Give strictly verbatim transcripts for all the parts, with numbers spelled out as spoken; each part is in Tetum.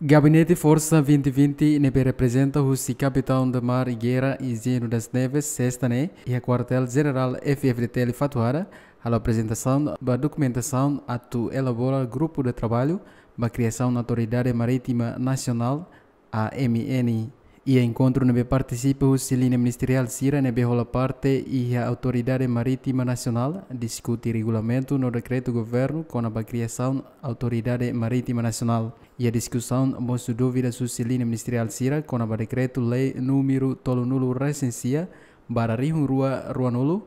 Gabinete Forsa vinte vinte ne'ebé reprezenta husi Capitão de Mar e Guerra Higieno das Neves, sesta ne'e, iha Kuartél Jenerál F-FDTL Fatuhada, halo aprezentasaun ba dokumentasaun atu elabora grupu de traballu ba kriasaun Autoridade Marítima Nasionál, A M N. Iha enkontru ne'ebé partisipa husi liña ministeriál sira ne'ebé hola parte iha Autoridade Marítima Nasionál, diskute regulamentu no dekretu governu kona-ba kriasaun Autoridade Marítima Nasionál. Iha diskusaun, mosu dúvidas husi liña ministeriál sira kona-ba dekretu-lei númeru tolunulu resin sia barra rihun rua ruanulu,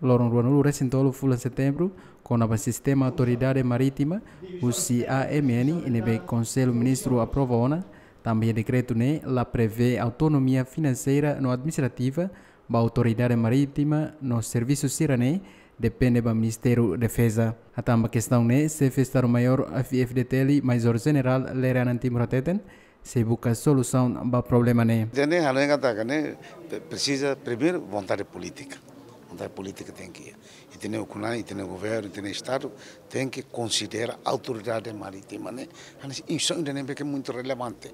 loron ruanulu resin tolu fulan Setembru, kona-ba sistema Autoridade Marítima husi A M N, ne'ebé Konsellu Ministru aprova ona. Tanba iha dekretu ne'e la prevee autonomia finanseira no administrativa ba Autoridade Marítima no servisu sira-ne'e depende ba Ministériu Defeza. Hatán ba kestaun ne'e, Xefe Estadu-Maiór F-FDTL, Majór Jenerál Lerianan Timur hateten, sei buka solusaun ba problema ne'e. Ida-ne'e hanoin katak ne'e pre-, presiza primeiru vontade polítika. Vontade polítika tenke iha. Ita-nia ukun-na'in, ita-nia governu, ita-nia Estadu tenke konsidera Autoridade Marítima ne'e hanesan instituisaun ida ne'ebé ke muitu relevante.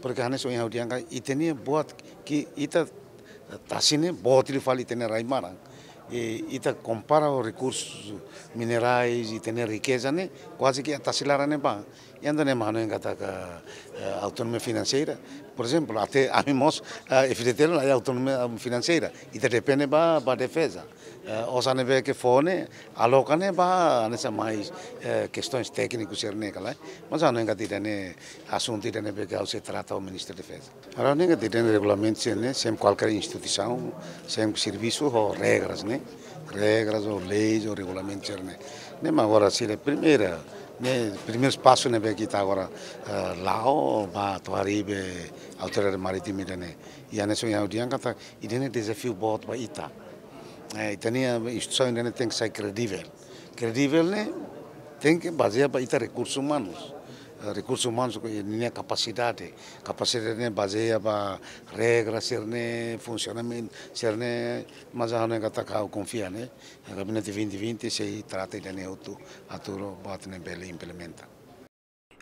Porke hanesan ohin ha'u dehan katak ita-nia buat ke ita tasi ne'e boot liu fali ita-nia rai-maran. I ita kompara ho rekursus minerais, ita-nia rikeza ne'e kuaze ke iha tasi laran ne'ebá. I entaun ne'e mak hanoin katak, eh, autonomia finanseira. Por ezemplu, até ami mós, eh, F-FDTL la iha autonomia, eh, finanseira. Ita depende ba, ba defeza. Eh, osan ne'ebé ke fó ne'e, aloka ne'e ba, hanesan mais, eh, kestaun tékniku sira-ne'e ka lae. Mas hanoin katak ida-ne'e asuntu ida ne'ebé ke ha'u sei trata ho Ministru Defeza. Ha'u hanoin katak ida-ne'e regulamentu sira-ne'e, sempre kualkér instituisaun, sempre servisu ho regras, ne'e. Regras, ho leis, ho regulamentu sira-ne'e. Ne'e mak agora sira primeira, ne'e, primeirus pasu ne'ebé ke ita agora, eh, la'o ba atu haree be Autoridade Marítima ida-ne'e. I hanesan ohin ha'u dehan katak ida-ne'e dezafiu boot ba ita. Eh, ita-nia instituisaun ida-ne'e tenke sai kredivel. Kredivel ne'e tenke bazeia ba ita rekursus umanus. Eh, rekursus umanus ho ninia kapasidade. Kapasidade ne'e bazeia ba regra sira-ne'e, funsionamentu sira-ne'e, mas ha'u hanoin katak ha'u konfia ne'e Gabinete vinte vinte sei trata ida-ne'e hotu atu buat ne'e bele implementa.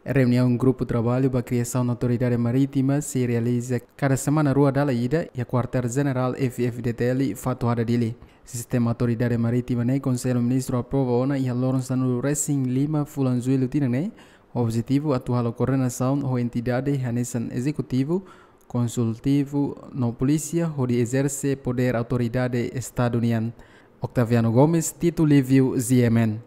Reuniaun Grupu Traballu ba Kriasaun Autoridade Marítima sei realiza kada semana rua dala ida iha Kuartél Jenerál F-FDTL Fatuhada, Dili. Sistema Autoridade Marítima ne'e Konsellu Ministru aprova ona iha loron sanulu resin lima fulan Jullu tinan ne'e. Objetivu atu halo koordenasaun ho entidade hanesan ezekutivu, konsultivu no polísia hodi ezerse podér autoridade Estadu nian. Octaviano Gomes, Tito Livio, G M N.